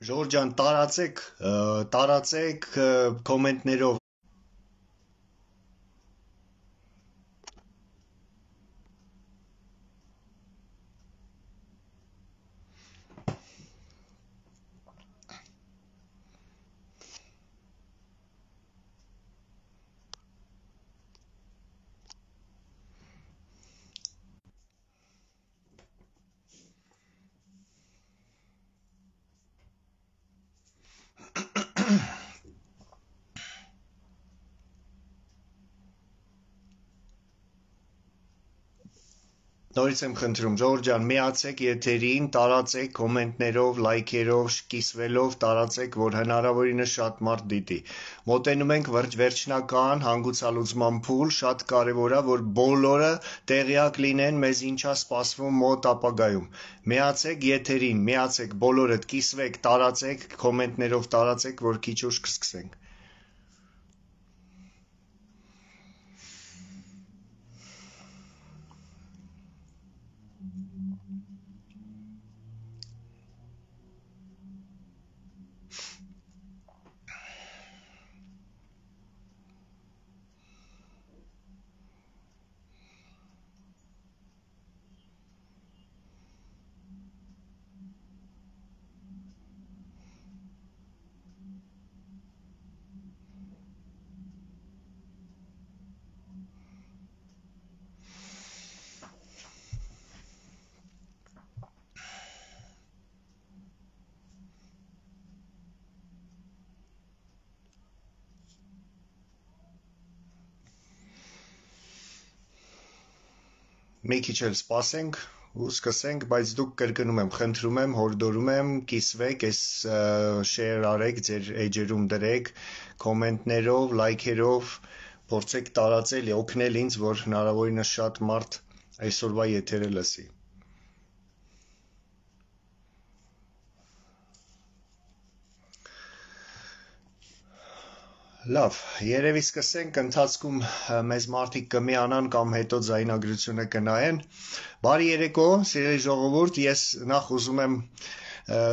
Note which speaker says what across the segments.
Speaker 1: Ժորժ ջան, տարածեք կոմենտներով։ Նորից եմ խնդրում, Ժորժ ջան, միացեք եթերին, տարածեք կոմենտներով, լայքերով, կիսվելով, տարածեք, որ հնարավորինս շատ մարդ դիտի։ Մոտենում ենք վերջնական հանգուցալուծման փուլ, շատ կարևոր է, որ բոլորը տեղյակ լինեն, մեզ ինչա սպասվում մոտ ապագայում։ Միացեք եթերին, միացեք, բոլորդ կիսվեք, տարածեք, կոմենտներով տարածեք, որ քիչ ուշ կսկսենք։ Մի քիչ էլ սպասենք ու սկսենք, բայց դուք կրկնում եմ, խնդրում եմ, հորդորում եմ, կիսվեք, այս շեյր արեք, ձեր էջերում դրեք, կոմենտներով, լայքերով, փորձեք տարածել, օգնել ինձ, որ հնարավորինս շատ մարդ այսօրվա եթերը լսի։ Լավ, երևի սկսենք, ընթացքում մեզ մարդիկ կմիանան կամ հետո ձայնագրությունը կնայեն։ Բարի երեկո, սիրելի ժողովուրդ, ես նախ ուզում եմ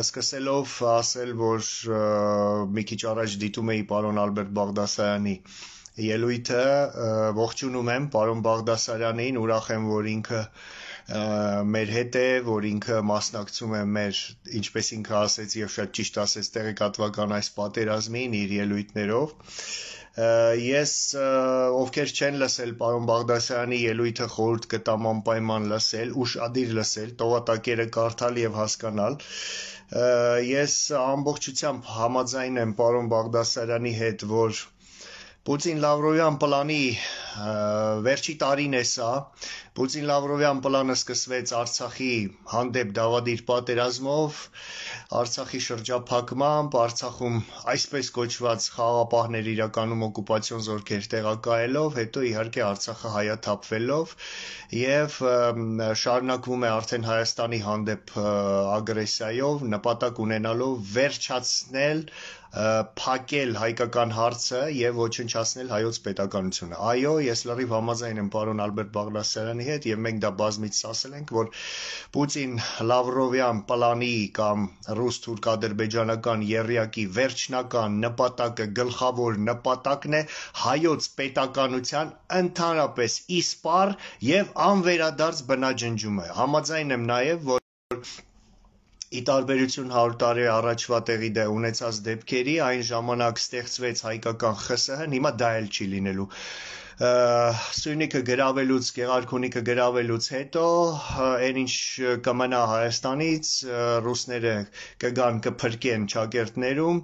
Speaker 1: սկսելով ասել, որ մի քիչ առաջ դիտում էի պարոն Ալբերտ Բաղդասարյանի ելույթը, ողջունում եմ պարոն Բաղդասարյանին, ուրախ եմ, որ ինքը մեր հետ է, որ ինքը մասնակցում է մեր, ինչպես ինքը ասեց եւ շատ ճիշտ ասեց, տեղեկատվական այս պատերազմին իր ելույթներով։ Ես ովքեր չեն լսել պարոն Բաղդասարյանի ելույթը խորհուրդ կտամ անպայման լսել, ուշադիր լսել, տողատակերը կարդալ եւ հասկանալ։ Ես ամբողջությամբ համաձայն եմ պարոն Բաղդասարյանի հետ, որ Պուտին-Լավրովյան պլանի վերջի տարին է սա, Պուտին-Լավրովյան պլանը սկսվեց Արցախի հանդեպ դավադիր պատերազմով, Արցախի շրջափակմամբ, Արցախում այսպես կոչված խաղաղապահներ իրականում օկուպացիոն զորքեր տեղակայելով, հետո իհարկե Արցախը հայաթափվելով եւ շարունակվում է արդեն Հայաստանի հանդեպ ագրեսիայով, նպատակ ունենալով վերջացնել փակել հայկական հարցը եւ ոչնչացնել հայոց պետականությունը։ Այո, ես լրիվ համաձայն եմ պարոն Ալբերտ Բաղդասարյանի հետ եւ մենք դա բազմիցս ասել ենք, որ Պուտին-Լավրովյան պլանի կամ ռուս-թուրք-ադրբեջանական եռյակի վերջնական նպատակը, գլխավոր նպատակն է հայոց պետականության ընդհանրապես իսպառ եւ անվերադարձ բնաջնջումը։ Համաձայն եմ նաեւ, որ ի տարբերություն 100 տարի առաջվա տեղի ունեցած դեպքերի, այն ժամանակ ստեղծվեց հայկական ԽՍՀ-ն, հիմա դա էլ չի լինելու։ Սյունիքը գրավելուց, Գեղարքունիքը գրավելուց հետո այն ինչ կմնա Հայաստանից, ռուսները կգան կփրկեն ճակերտներում,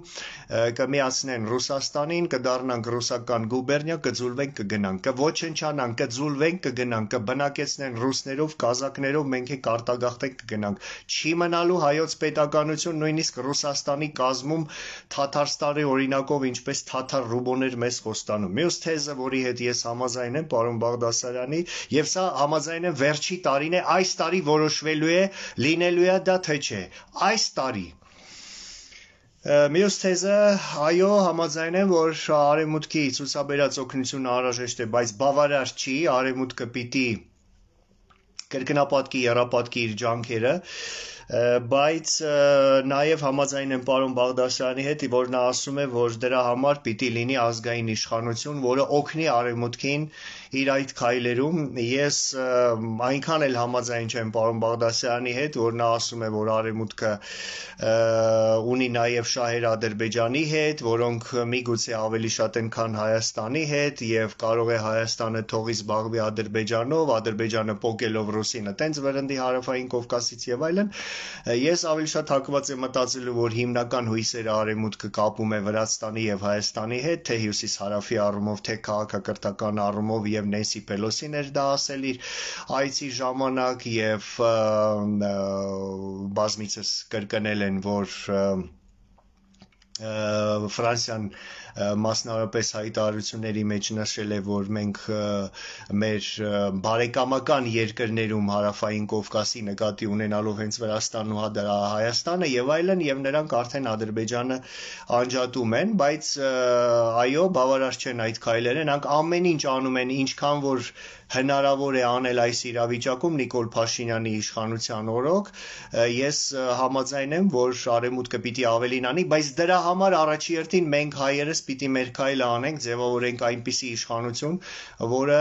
Speaker 1: կմիացնեն Ռուսաստանին, կդառնանք ռուսական գուբերնիա, կձուլվենք, կգնանք, կոչնչանանք, կձուլվենք, կգնանք, կբնակեցնեն ռուսներով, կազակներով, մենք էլ արտագաղթենք, կգնանք։ Չի մնալու հայոց պետականություն, նույնիսկ Ռուսաստանի կազմում Թաթարստանի օրինակով, ինչպես թաթար ռուբոներ մեզ խոստանում։ Մյուս թեզը, որի հետ ես համաձայն եմ պարոն Բաղդասարյանի, եւ սա համաձայն եմ վերջի տարին է, այս տարի որոշվելու է, լինելու է դա թե չէ, այս տարի։ Մյուս թեզը, այո, համաձայն եմ, որ արևմուտքի ցուցաբերած օգնությունը անհրաժեշտ է, բայց բավարար չի, արևմուտքը պիտի կրկնապատկի, եռապատկի իր ջանքերը, բայց նաև համաձայն եմ պարոն Բաղդասարյանի հետ, որ նա ասում է, որ դրա համար պիտի լինի ազգային իշխանություն, որը օգնի Արևմուտքին իր այդ քայլերում։ Ես այնքան էլ համաձայն չեմ պարոն Բաղդասարյանի հետ, որ նա ասում է, որ Արևմուտքը ունի նաև շահեր Ադրբեջանի հետ, որոնք միգուցե ավելի շատ են, քան Հայաստանի հետ, եւ կարող է Հայաստանը թողի զբաղվի Ադրբեջանով, Ադրբեջանը պոկելով Ռուսին այտենց վրընդի Հարավային Կովկասից եւ այլն։ Ես ավելի շատ հակված եմ մտածելու, որ հիմնական հույսերը Արևմուտքը կապում է Վրաստանի եւ Հայաստանի հետ, թե հյուսիս-հարավի առումով, թե քաղաքակրթական առումով, եւ Նենսի Պելոսին էր դա ասել իր այցի ժամանակ, եւ բազմիցս կրկնել են, որ Ֆրանսիան մասնավորապես հայտարարությունների մեջ նշել է, որ մենք մեր բարեկամական երկրներում Հարավային Կովկասի նկատի ունենալով հենց Վրաստանն ու Հայաստանը եւ այլն, եւ նրանք արդեն Ադրբեջանը անջատում են, բայց այո, բավարար չեն այդ քայլերը, նրանք ամեն ինչ անում են, ինչքան որ հնարավոր է անել այս իրավիճակում Նիկոլ Փաշինյանի իշխանության օրոք։ Ես համաձայն եմ, որ Արևմուտքը պիտի ավելին անի, բայց դրա համար առաջի հերթին մենք հայերս պիտի մեր քայլը անենք, ձևավորենք այնպիսի իշխանություն, որը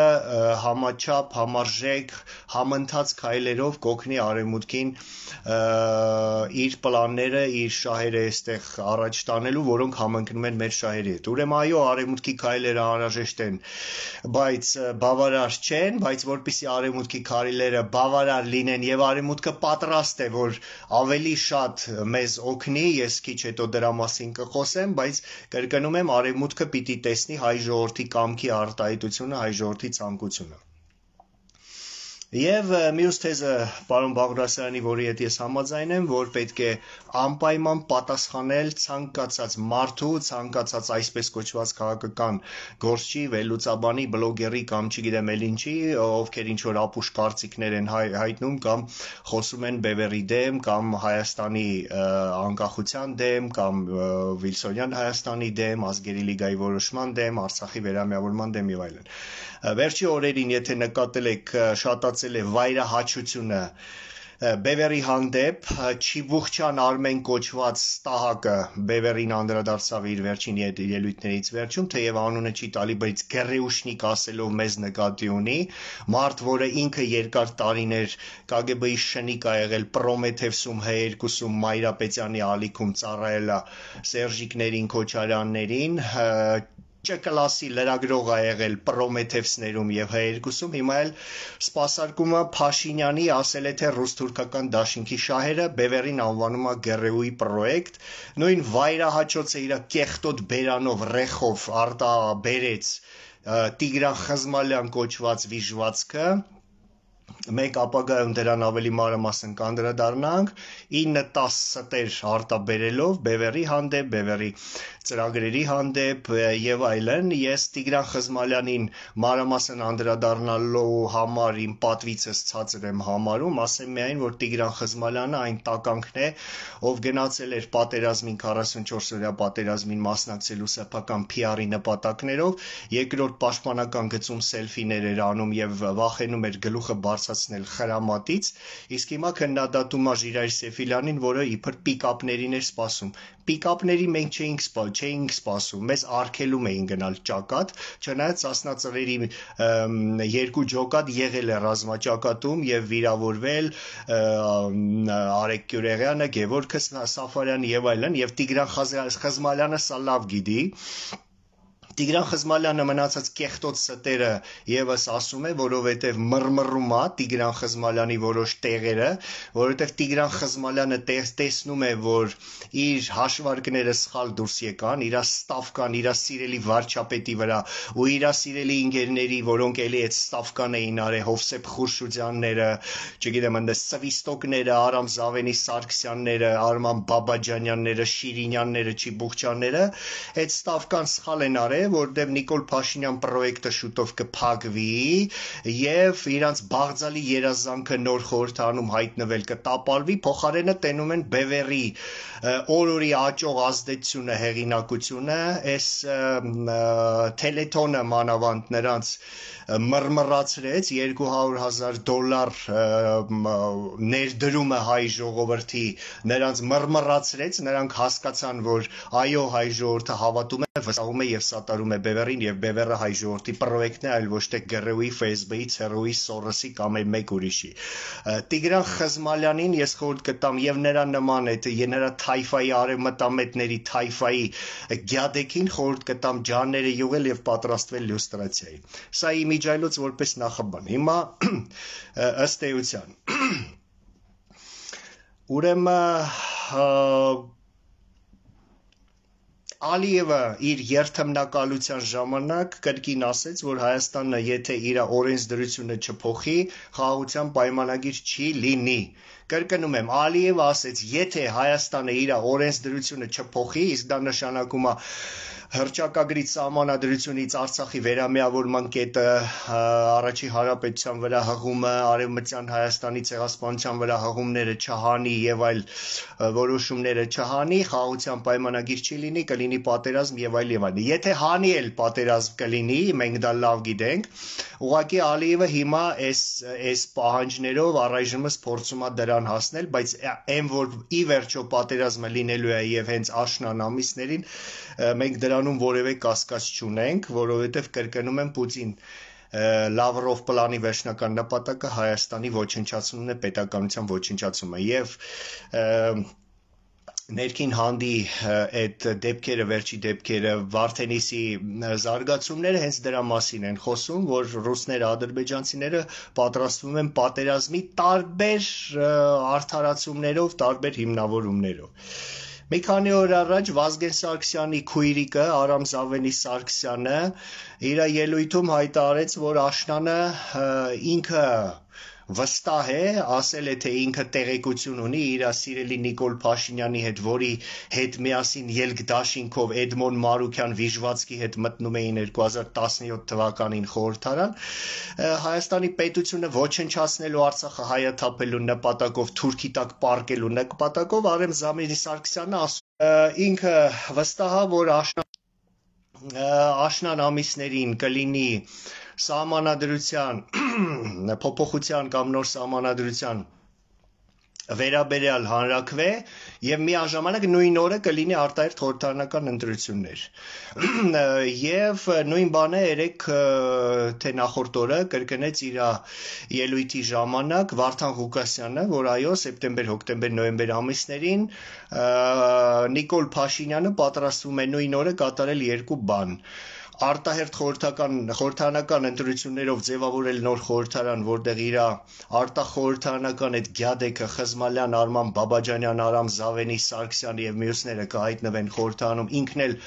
Speaker 1: համաչափ, համարժեք, համընթաց քայլերով կօգնի Արևմուտքին իր պլանները, իր շահերը այստեղ առաջ տանելու, որոնք համընկնում են մեր շահերի հետ։ Ուրեմն այո, Արևմուտքի քայլերը անհրաժեշտ են, բայց բավարար չեն, բայց որպեսզի Արևմուտքի քայլերը բավարար լինեն եւ Արևմուտքը պատրաստ է, որ ավելի շատ մեզ օգնի, ես քիչ հետո դրա մասին կխոսեմ, բայց կրկնում եմ, Արևմուտքը պիտի տեսնի հայ ժողովրդի կամքի արտահայտությունը, հայ ժողովրդի ցանկությունը։ Եվ մյուս թեզը պարոն Բաղդասարյանի, որի հետ ես համաձայն եմ, որ պետք է անպայման պատասխանել ցանկացած մարդու, ցանկացած այսպես կոչված քաղաքական գործչի, վերլուծաբանի, բլոգերի կամ չգիտեմ էլ ինչի, ովքեր ինչ որ ապուշ կարծիքներ են հայտնում կամ խոսում են Բևերի դեմ կամ Հայաստանի անկախության դեմ կամ Վիլսոնյան Հայաստանի դեմ, ազգերի լիգայի որոշման դեմ, Արցախի վերամիավորման դեմ եւ այլն։ Վերջի օրերին, եթե նկատել եք, շատացել է վայրահաչությունը Բևերի հանդեպ, Չիբուխչյան Արմեն կոչված ստահակը Բևերին անդրադարձավ իր վերջին ելույթներից վերջում, թեև անունը չի տալի, բայց գերեուշնիկ ասելով մեզ նկատի ունի, մարդ, որը ինքը երկար տարիներ KGB-ի շնիկ ա եղել, Պրոմեթևսում, Հ2-ում, Մայրապետյանի ալիքում ծառայել ա Սերժիկներին, Քոչարյաններին, Չ-կլասի լրագրող ա եղել Պրոմեթևսներում եւ Հ2-ում, հիմա էլ սպասարկումը Փաշինյանի ասել է, թե ռուս-թուրքական դաշինքի շահերը Բևերին անվանում ա Գերեուի պրոյեկտ, նույն վայրահաճոցը իր կեղտոտ բերանով, ռեխով արտաբերեց Տիգրան Խզմալյան կոչված վիժվածքը, մեկ ապագայում դրան ավելի մանրամասն կանդրադառնանք, 9-10 ստեր արտաբերելով Բևերի հանդեպ, Բևերի ծրագրերի հանդեպ եւ այլն, ես Տիգրան Խզմալյանին մանրամասն անդրադառնալու համար իմ պատվիցս ցածր եմ համարում, ասեմ միայն, որ Տիգրան Խզմալյանը այն տականքն է, ով գնացել էր պատերազմին 44-օրյա պատերազմին մասնակցելու սեփական PR-ի նպատակներով, երկրորդ պաշտպանական գծում սելֆիներ էր անում եւ վախենում էր գլուխը բարձրացնել խրամատից, իսկ հիմա քննադատում ա Ժիրայր Սեֆիլյանին, որը իբր պիկապներին էր սպասում։ Պիկապների մենք չէինք սպասում, մեզ արգելում էին գնալ ճակատ, չնայած Սասնա ծռերի երկու ջոկատ եղել է ռազմաճակատում եւ վիրավորվել Արեգ Գյուրեղյանը, Գևորգ Սաֆարյանը եւ այլն, եւ Տիգրան Խզմալյանը սա լավ գիտի։ Տիգրան Խզմալյանը մնացած կեղտոտ ստերը եւս ասում է, որովհետեւ մռմռում է Տիգրան Խզմալյանի որոշ տեղերը, որովհետեւ Տիգրան Խզմալյանը տեսնում է, որ իր հաշվարկները սխալ դուրս եկան, իր ստավկան, իր սիրելի վարչապետի վրա ու իր սիրելի ինգերների, որոնք էլի այդ ստավկան էին արել, Հովսեփ Խուրշուդյանները, չգիտեմ, այնտեղ Սվիստոկները, Արամ Զավենի Սարգսյանները, Արման Բաբաջանյանները, Շիրինյանները, Չիբուխչյանները, այդ ստավկան սխալ են արել, որտեղ Նիկոլ Փաշինյան պրոյեկտը շուտով կփակվի եւ իրանց բաղձալի երազանքը նոր խորհրդանում հայտնվել կտապալվի, փոխարենը տենում են Բևերի օրորի աճող ազդեցությունը, հեղինակությունը, այս Թելեթոնը մանավանդ նրանց մռմռացրեց $200,000 ներդրումը հայ ժողովրդի նրանց մռմռացրեց, նրանք հասկացան, որ այո, հայ ժողովուրդը հավատում է, վստահում է եւ սատարում է Բևերին եւ Բևերը հայ ժողովրդի պրոյեկտն է, այլ ոչ թե ԳՌՈ-ի, ՖՍԲ-ի, ՑՌՈ-ի, Սորոսի կամ այլ մեկ ուրիշի։ Տիգրան Խզմալյանին ես խորհուրդ կտամ եւ նրա նման նրա թայֆայի արևմտամետների թայֆայի գյադեկին խորհուրդ կտամ ջանները յուղել եւ պատրաստվել լյուստրացիայի։ Սա իմիջայլոց որպես նախաբան։ Հիմա ըստ էության ուրեմն Ալիևը իր երթմնակալության ժամանակ կրկին ասեց, որ Հայաստանը եթե իր օրենսդրությունը չփոխի, խաղաղության պայմանագիր չի լինի։ Կրկնում եմ, Ալիևը ասեց, եթե Հայաստանը իր օրենսդրությունը չփոխի, իսկ դա նշանակում է հռչակագրից սահմանադրությունից Արցախի վերամիավորման կետը, առաջի հանրապետության վրա հղումը, արևմտյան Հայաստանի ցեղասպանության վրա հղումները չհանի եւ այլ որոշումները չհանի, խաղաղության պայմանագիր չի լինի, կլինի պատերազմ եւ այլ եւ այլ։ Եթե հանի էլ պատերազմ կլինի, մենք դա լավ գիտենք, ուղղակի Ալիևը հիմա այս պահանջներով առայժմս փորձում է դրան հասնել, բայց այն որ ի վերջո պատերազմը լինելու է եւ հենց աշնան ամիսներին մենք դրանում որևէ կասկած չունենք, որովհետև կրկնում եմ Պուտին Լավրով պլանի վերջնական նպատակը Հայաստանի ոչնչացումն է, պետականության ոչնչացումը եւ ներքին հանդի այդ դեպքերը, վերջի դեպքերը, Վարդենիսի զարգացումները հենց դրա մասին են խոսում, որ ռուսները, ադրբեջանցիները պատրաստվում են պատերազմի տարբեր արդարացումներով, տարբեր հիմնավորումներով։ Մի քանի օր առաջ Վազգեն Սարգսյանի քույրիկը Արամ Զավենի Սարգսյանը իր ելույթում հայտարարեց, որ աշնանը ինքը վստահ է, ասել է, թե ինքը տեղեկություն ունի իր սիրելի Նիկոլ Փաշինյանի հետ, որի հետ միասին ելք դաշինքով Էդմոն Մարուքյան Վիժվացկի հետ մտնում էին 2017 թվականին խորհրդարան, Հայաստանի պետությունը ոչնչացնելու Արցախը հայաթափելու նպատակով, Թուրքի տակ պարկելու նպատակով Արամ Զավենի Սարգսյանը ինքը վստահ է, որ աշնան ամիսներին կլինի սահմանադրության փոփոխության կամ նոր սահմանադրության վերաբերյալ հանրաքվե եւ միաժամանակ նույն օրը կլինի արտահերթ խորհրդարանական ընտրություններ եւ նույն բանը երեք թե նախորդ օրը կրկնեց իր ելույթի ժամանակ Վարդան Ղուկասյանը, որ այո սեպտեմբեր, հոկտեմբեր, նոյեմբեր ամիսներին Նիկոլ Փաշինյանը պատրաստվում է նույն օրը կատարել երկու բան արտահերթ խորհրդարանական ընտրություններով ձևավորել նոր խորհրդարան, որտեղ իր արտախորհրդարանական այդ գյադեկը Խզմալյան, Արման Բաբաջանյան, Արամ Զավենի, Սարգսյան եւ մյուսները կհայտնվեն խորհրդարանում, ինքն էլ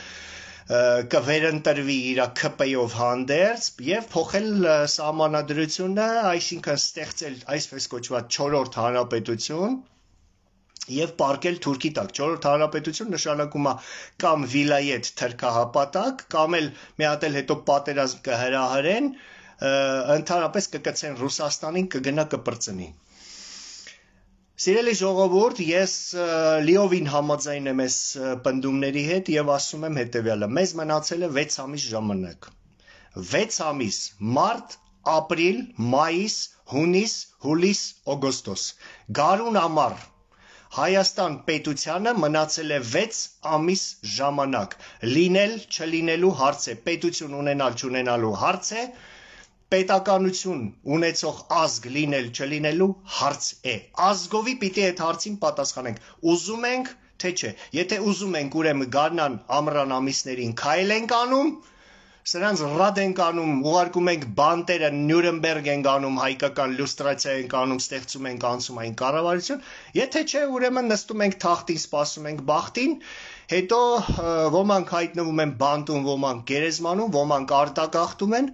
Speaker 1: կվերընտրվի իր ԿՊ-ով հանդերձ եւ փոխել սահմանադրությունը, այսինքն ստեղծել այսպես կոչված 4-րդ հանրապետություն եւ պարկել Թուրքի տակ։ 4-րդ հանրապետություն նշանակում է կամ վիլայետ թրքահապատակ, կամ էլ մի հատ էլ հետո պատերազմ կհրահրեն, ընդհանրապես կկցեն Ռուսաստանին, կգնա կպրծնի։ Սիրելի ժողովուրդ, ես լիովին համաձայն եմ այս պնդումների հետ եւ ասում եմ հետեւյալը. մեզ մնացել է 6 ամիս ժամանակ։ 6 ամիս՝ մարտ, ապրիլ, մայիս, հունիս, հուլիս, օգոստոս։ Գարուն ամառ Հայաստան պետությանը մնացել է 6 ամիս ժամանակ, լինել չլինելու հարց է, պետություն ունենալ չունենալու հարց է, պետականություն ունեցող ազգ լինել չլինելու հարց է, ազգովի պիտի այդ հարցին պատասխանենք, ուզում ենք թե չէ, եթե ուզում ենք ուրեմն գարնան ամռան ամիսներին քայլ ենք անում, սրանց ռադ ենք անում, ուղարկում ենք բանտերը, Նյուրնբերգ ենք անում, հայկական լյուստրացիա ենք անում, ստեղծում ենք անցումային կառավարություն, եթե չէ, ուրեմն նստում ենք թախտին, սպասում ենք բախտին, հետո ոմանք հայտնվում են բանտում, ոմանք գերեզմանում, ոմանք արտագաղթում են,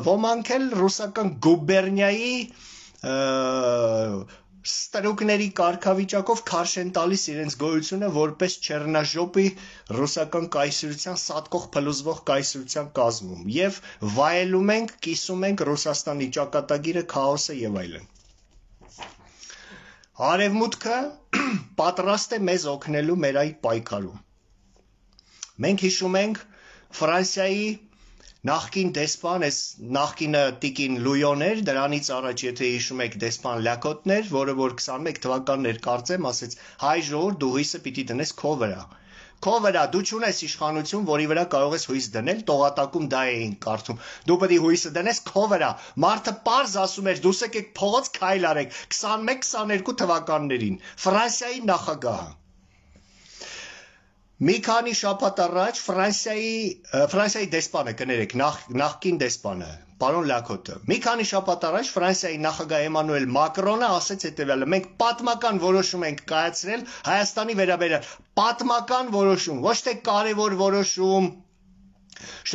Speaker 1: ոմանք էլ ռուսական գուբերնիայի ստրուկների կարգավիճակով քարշ են տալիս իրենց գոյությունը որպես Չեռնաժոպի ռուսական կայսրության սատկող փլուզվող կայսրության կազմում եւ վայելում ենք, կիսում ենք Ռուսաստանի ճակատագիրը, քաոսը եւ այլն։ Արևմուտքը պատրաստ է մեզ օգնելու մեր այդ պայքարում։ Մենք հիշում ենք Ֆրանսիայի նախկին դեսպան, այս նախկինը տիկին Լույոն էր, դրանից առաջ, եթե հիշում եք, դեսպան Լակոտն էր, որը որ 21 թվականներ կարծեմ, ասեց հայ ժողովուրդ դու հույսը պիտի դնես քո վրա։ Քո վրա դու չունես իշխանություն, որի վրա կարող ես հույս դնել, տողատակում դա էին կարդում։ Դու պետք է հույսը դնես քո վրա։ Մարդը պարզ ասում էր, դուս եկեք փողոց քայլ արեք 21-22 թվականներին։ Ֆրանսիայի նախագահը Մի քանի շաբաթ առաջ Ֆրանսիայի դեսպանը, կներեք, նախկին դեսպանը, պարոն Լակոտը, մի քանի շաբաթ առաջ Ֆրանսիայի նախագահ Էմանուել Մակրոնը ասեց հետևյալը. մենք պատմական որոշում ենք կայացրել Հայաստանի վերաբերյալ, պատմական որոշում, ոչ թե կարևոր որոշում,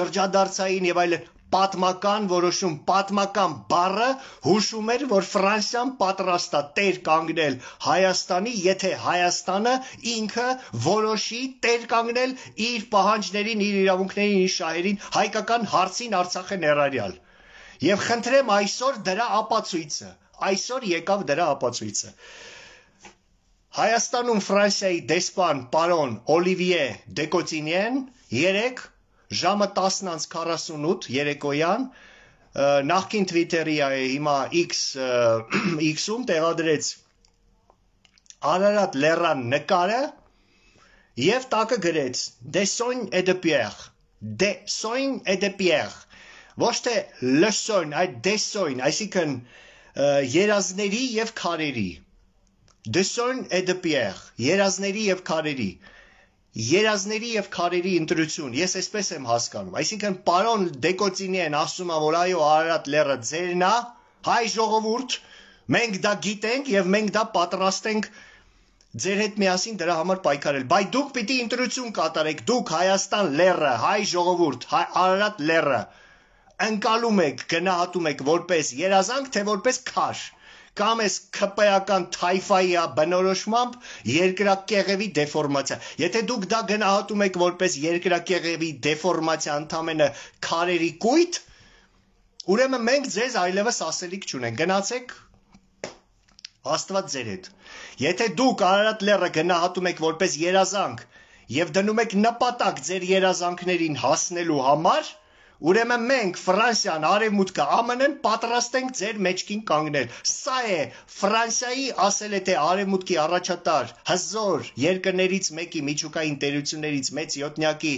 Speaker 1: շրջադարձային եւ այլն, պատմական որոշում, պատմական բառը հուշում էր, որ Ֆրանսիան պատրաստ է տեր կանգնել Հայաստանի, եթե Հայաստանը ինքը որոշի տեր կանգնել իր պահանջներին, իր իրավունքներին, իր շահերին, հայկական հարցին Արցախը ներառյալ։ Եվ խնդրեմ այսօր դրա ապացույցը, այսօր եկավ դրա ապացույցը։ Հայաստանում Ֆրանսիայի դեսպան պարոն Օլիվիե Դեկոծինյան երեկ ժամը 10:48 երեկոյան նախկին Twitter-ի հիմա X-ում տեղադրեց Արարատ լեռան նկարը եւ տակը գրեց Dessogne et de pierre, Dessogne et de pierre, ոչ թե leçon, այլ Dessogne, այսինքն երազների եւ քարերի, Dessogne et de pierre, երազների եւ քարերի, երազների եւ քարերի ընտրություն, ես այսպես եմ հասկանում, այսինքն պարոն Դեկոծինյան ասում է, որ այո Արարատ լեռը ձերն է, հայ ժողովուրդ, մենք դա գիտենք եւ մենք դա պատրաստ ենք ձեր հետ միասին դրա համար պայքարել, բայց դուք պիտի ընտրություն կատարեք, դուք Հայաստան լեռը, հայ ժողովուրդ, Արարատ լեռը ընկալում եք, գնահատում եք որպես երազանք, թե որպես քար, կամ էս ՔՊ-ական թայֆայի բնորոշմամբ երկրակեղևի դեֆորմացիա։ Եթե դուք դա գնահատում եք որպես երկրակեղևի դեֆորմացիա, ընդամենը քարերի կույտ, ուրեմն մենք ձեզ այլևս ասելիք չունենք, գնացեք Աստված ձեր հետ։ Եթե դուք Արարատ լեռը գնահատում եք որպես երազանք եւ դնում եք նպատակ ձեր երազանքներին հասնելու համար, ուրեմն մենք Ֆրանսիան, Արևմուտքը, ԱՄՆ-ն պատրաստ ենք ձեր մեջքին կանգնել։ Սա է Ֆրանսիայի ասել է թե Արևմուտքի առաջատար հզոր երկրներից մեկի, միջուկային տերություններից մեծ յոթնյակի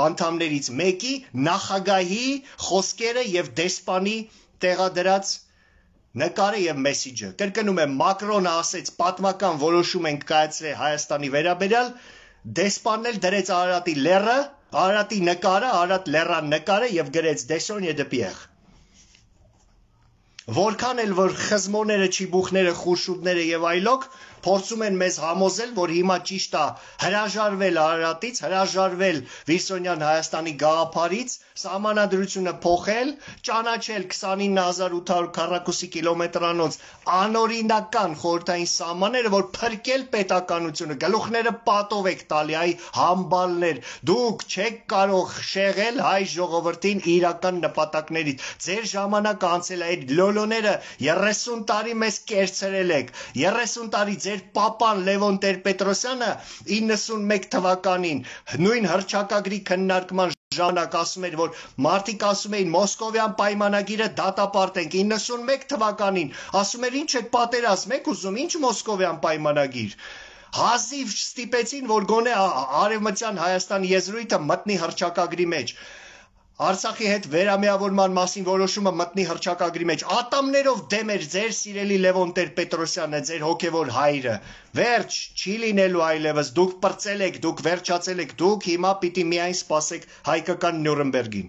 Speaker 1: անդամներից մեկի նախագահի խոսքերը եւ դեսպանի տեղադրած նկարը եւ մեսիջը։ Կրկնում եմ, Մակրոնը ասեց պատմական որոշում ենք կայացրել Հայաստանի վերաբերյալ, դեսպանն էլ դրեց Արարատի լեռը, Արարատի նկարը, Արարատ լեռան նկարը եւ գրեց Dessogne et de pierre։ Որքան էլ որ խզմոները, չիբուխները, խուրշուդները եւ այլոք փորձում են մեզ համոզել, որ հիմա ճիշտ է հրաժարվել Արարատից, հրաժարվել Վիրսոնյան Հայաստանի գաղափարից, սահմանադրությունը փոխել, ճանաչել 29800 քառակուսի կիլոմետրանոց անօրինական խորհրդային սահմանները, որ փրկել պետականությունը, գլուխները պատով եք տալի, այ համբալներ, դուք չեք կարող շեղել հայ ժողովրդին իրական նպատակներից, ձեր ժամանակը անցել է այդ լոլոները 30 տարի մեզ կերցրել եք, 30 տարի ձեր պապան Լևոն Տեր-Պետրոսյանը 91 թվականին նույն հռչակագրի քննարկման ժամանակ ասում էր, որ մարդիկ ասում էին Մոսկովյան պայմանագիրը դատապարտենք, 91 թվականին ասում էր ինչ եք պատերազմ եք ուզում, ինչ Մոսկովյան պայմանագիր, հազիվ ստիպեցին, որ գոնե արևմտյան Հայաստան եզրույթը մտնի հռչակագրի մեջ, Արցախի հետ վերամիավորման մասին որոշումը մտնի հռչակագրի մեջ, ատամներով դեմ էր ձեր սիրելի Լևոն Տեր-Պետրոսյանը, ձեր հոգևոր հայրը, վերջ չի լինելու այլևս, դուք պրծել եք, դուք վերջացել եք, դուք հիմա պիտի միայն սպասեք հայկական Նյուրնբերգին։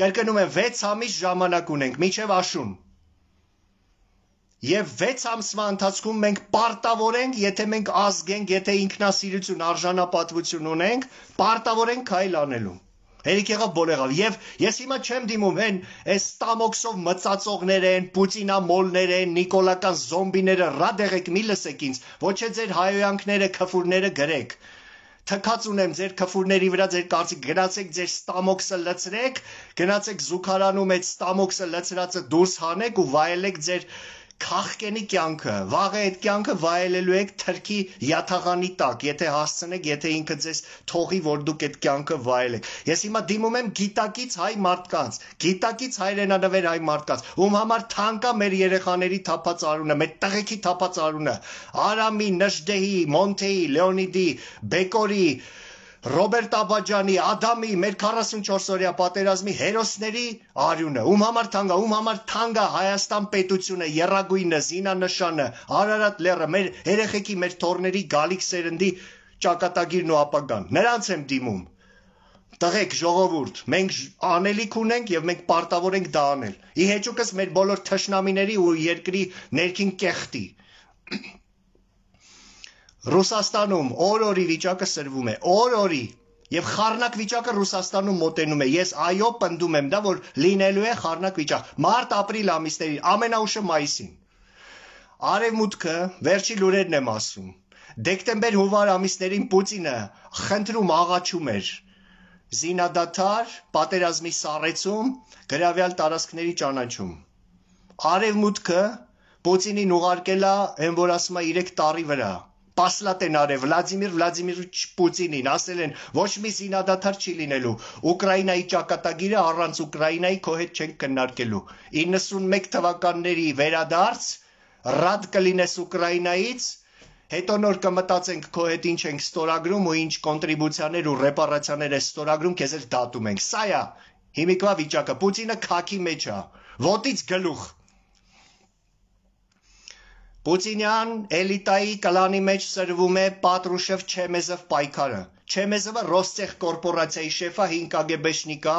Speaker 1: Կրկնում եմ, 6 ամիս ժամանակ ունենք, մինչև աշուն։ Եվ 6 ամսվա ընթացքում մենք պարտավոր ենք, եթե մենք ազգ ենք, եթե ինքնասիրություն, արժանապատվություն ունենք, պարտավոր ենք քայլ անելու։ Հերիք եղավ բոլ եղավ եւ ես հիմա չեմ դիմում այս ստամոքսով մծածողներ են, պուտինամոլներ են, նիկոլական զոմբիները, ռադեղեք մի լսեք ինձ, ոչ է ձեր հայոյանքները, քֆուրները գրեք։ Թքած ունեմ ձեր քֆուրների վրա ձեր կարծիք, գնացեք ձեր ստամոքսը լցրեք, գնացեք զուգարանում այդ ստամոքսը լցրածը դուրս հանեք ու վայելեք ձեր քաղկենի կյանքը, վաղը այդ կյանքը վայելելու եք թրքի յաթաղանի տակ, եթե հասցնեք, եթե ինքը ձեզ թողի, որ դուք այդ կյանքը վայելեք։ Ես հիմա դիմում եմ գիտակից հայ մարդկանց, գիտակից հայրենանվեր հայ մարդկանց, ում համար թանկ է մեր երեխաների թափած արունը, մեր տղեկի թափած արունը, Արամի, Նժդեհի, Մոնթեի, Լեոնիդի, Բեկորի, Ռոբերտ Աբաջանի, Ադամի, մեր 44-օրյա պատերազմի հերոսների արյունը, ում համար թանկ է Հայաստան պետությունը, եռագույնը, զինանշանը, Արարատ լեռը, մեր երեխեքի, մեր թոռների գալիք սերնդի ճակատագիրն ու ապագան, նրանց եմ դիմում։ Տղեկ, ժողովուրդ, մենք անելիք ունենք եւ մենք պարտավոր ենք դա անել։ Ի հեճուկս մեր բոլոր թշնամիների ու երկրի ներքին կեղտի։ Ռուսաստանում օր-օրի վիճակը սրվում է, օր-օրի, եւ խառնակ վիճակը Ռուսաստանում մոտենում է, ես այո պնդում եմ դա, որ լինելու է խառնակ վիճակ, մարտ-ապրիլ ամիսներին, ամենաուշը մայիսին, արևմուտքը, վերջի լուրերն եմ ասում, դեկտեմբեր-հունվար ամիսներին Պուտինը խնդրում աղաչում էր, զինադադար, պատերազմի սառեցում, գրավյալ տարածքների ճանաչում, արևմուտքը Պուտինին ուղարկել է, են որ ասում է 3 տարի վրա, Պասլատ են արել Վլադիմիր Վլադիմիրիչ Պուտինին, ասել են ոչ մի զինադադար չի լինելու, Ուկրաինայի ճակատագիրը առանց Ուկրաինայի քո հետ չենք քննարկելու, 91 թվականների վերադարձ, ռադ կլինես Ուկրաինայից, հետո նոր կմտածենք քո հետ ինչ ենք ստորագրում ու ինչ կոնտրիբուցիաներ ու ռեպարացիաներ է ստորագրում, քեզ էլ դատում ենք, սա է հիմիկվա վիճակը, Պուտինը քաքի մեջ է, ոտից գլուխ Պուտինյան էլիտայի կլանի մեջ սրվում է Պատրուշև Չեմեզով պայքարը։ Չեմեզովը Ռոստեխ կորպորացիայի շեֆա 5 կագեբեշնիկա,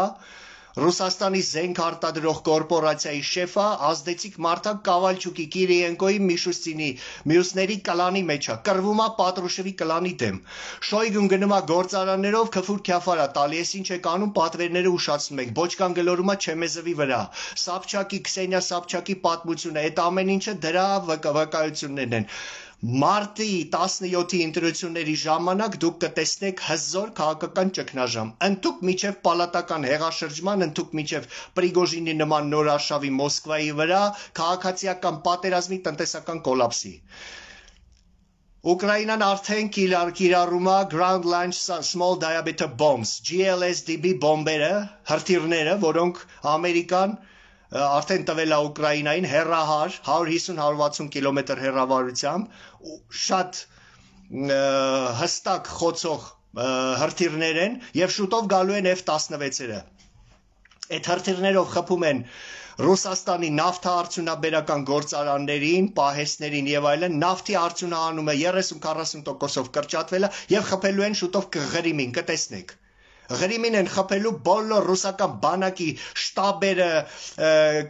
Speaker 1: Ռուսաստանի զենք արտադրող կորպորացիայի շեֆա, ազդեցիկ մարդակ Կավալչուկի, Կիրիենկոյի, Միշուստինի, մյուսների կլանի մեջ է, կռվում է Պատրուշևի կլանի դեմ։ Շոյգուն գնում է գործարաններով քֆուր քյաֆարա տալի, ես ինչ եք անում, պատվերները ուշացնում ենք, բոճկան գլորում է Չեմեզովի վրա։ Սապչակի, Քսենիա Սապչակի պատմությունը, այդ ամեն ինչը դրա վկայություններն են։ Մարտի 17-ի ընտրությունների ժամանակ դուք կտեսնեք հզոր քաղաքական ճգնաժամ։ Ընթուք միջև պալատական հեղաշրջման, ընթուք միջև Պրիգոժինի նման նոր արշավի Մոսկվայի վրա, քաղաքացիական պատերազմի, տնտեսական կոլապսի։ Ուկրաինան արդեն կիրառում է Ground Launched Small Diameter Bombs, GLSDB բոմբերը, հրթիռները, որոնք Ամերիկան արդեն տվել է Ուկրաինային հեռահար 150-160 կիլոմետր հեռավորությամբ շատ հստակ խոցող հրթիռներ են եւ շուտով գալու են F-16-երը։ Այդ հրթիռներով խփում են Ռուսաստանի նավթարդյունաբերական գործարաններին, պահեստներին եւ այլն, նավթի արդյունահանումը 30-40%-ով կրճատվել է եւ խփելու են շուտով Ղրիմին, կտեսնեք։ Ղրիմին են խփելու բոլոր ռուսական բանակի շտաբերը,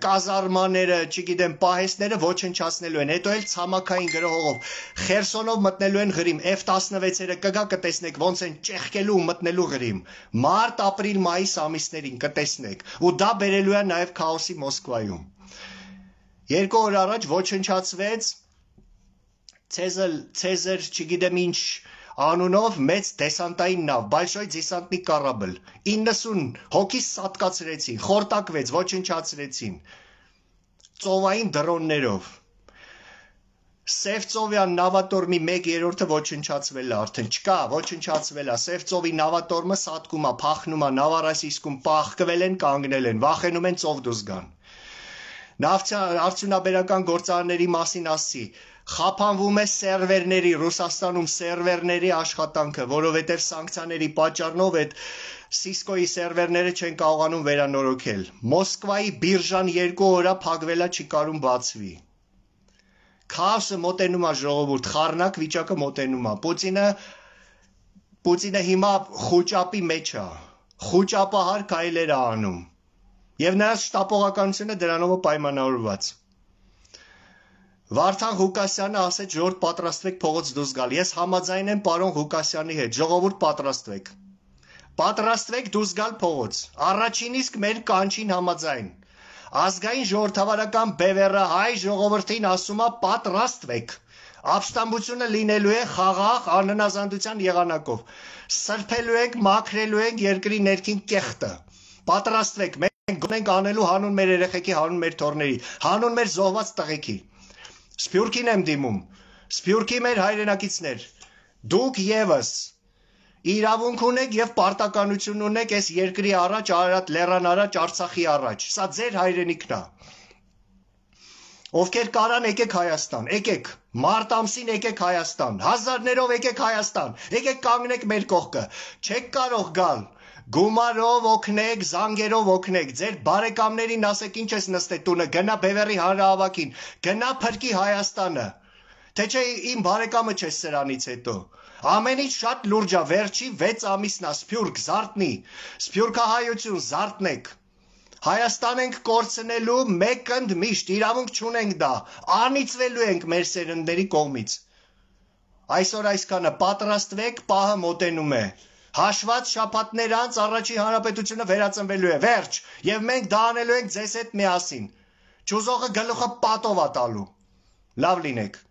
Speaker 1: կազարմաները, չգիտեմ, պահեստները ոչնչացնելու են, հետո էլ ցամաքային գրողով Խերսոնով մտնելու են Ղրիմ, F-16-երը կգա կտեսնեք ոնց են ճեղքելու ու մտնելու Ղրիմ, մարտ, ապրիլ, մայիս ամիսներին կտեսնեք, ու դա բերելու է նաև քաոսի Մոսկվայում։ 2 օր առաջ ոչնչացվեց Ցեզար, չգիտեմ ինչ անունով մեծ դեսանտային նավ, Большой դեսանտնի կառաբլ, 90 հոգի սատկացրեցին, խորտակվեց, ոչնչացրեցին, ծովային դրոններով, Սևծովյան նավատորմի 1/3-ը ոչնչացվել է արդեն, չկա, ոչնչացվել է, Սևծովի նավատորմը սատկում է, փախնում է, Նավարասիսկում պահկվել են, կանգնել են, վախենում են ծով դուրս գան։ Արդյունաբերական գործարանների մասին ասի, խափանվում է սերվերների, Ռուսաստանում սերվերների աշխատանքը, որովհետև սանկցիաների պատճառով այդ Սիսկոյի սերվերները չեն կարողանում վերանորոգել։ Մոսկվայի բիրժան 2 օրա փակվել է, չի կարում բացվի։ Քաոսը մոտենում է ժողովուրդ, խառնակ վիճակը մոտենում է։ Պուտինը հիմա խոճապի մեջ է, խոճապահար քայլեր է անում։ Եվ նրա շտապողականությունը դրանով է պայմանավորված։ Վարդան Ղուկասյանը ասեց ժողովուրդ պատրաստվեք փողոց դուրս գալ։ Ես համաձայն եմ պարոն Ղուկասյանի հետ, ժողովուրդ պատրաստվեք։ Պատրաստվեք դուրս գալ փողոց։ Առաջին իսկ մեր կանչին համաձայն։ Ազգային ժողովրդավարական բևեռը հայ ժողովրդին ասում է պատրաստվեք։ Ապստամբությունը լինելու է խաղաղ անհնազանդության եղանակով։ Սրբելու ենք, մաքրելու ենք երկրի ներքին կեղտը։ Պատրաստվեք, մենք գոնենք անելու հանուն մեր երեխեքի, հանուն մեր թոռների, հանուն մեր զոհված տղեկի։ Սփյուռքին եմ դիմում, Սփյուռքի մեր հայրենակիցներ, դուք եւս իրավունք ունեք եւ պարտականություն ունեք այս երկրի առաջ, Արարատ լեռան առաջ, Արցախի առաջ։ Սա ձեր հայրենիքն է։ Ովքեր կարան, եկեք Հայաստան, եկեք, մարտ ամսին եկեք Հայաստան, հազարներով եկեք Հայաստան, եկեք կանգնեք մեր կողքը, չեք կարող գալ, գումարով օգնեք, զանգերով օգնեք, ձեր բարեկամներին ասեք ինչ ես նստե տունը, գնա Բևեռի հանրահավաքին, գնա փրկի Հայաստանը, թե չէ իմ բարեկամը չես սրանից հետո, ամենից շատ լուրջ է, վերջի 6 ամիսն է, Սփյուռք, զարթնի, Սփյուռքահայություն, զարթնեք, Հայաստան ենք կորցնելու մեկընդ միշտ, իրավունք չունենք դա, անիծվելու ենք մեր սերնդների կողմից։ Այսօր այսքանը, պատրաստվեք, պահը մոտենում է։ Հաշված շաբաթներ անց առաջին հանրապետությունը վերածնվելու է, վերջ, եւ մենք դա անելու ենք ձեզ հետ միասին։ Չուզողը գլուխը պատով է տալու։ Լավ լինեք։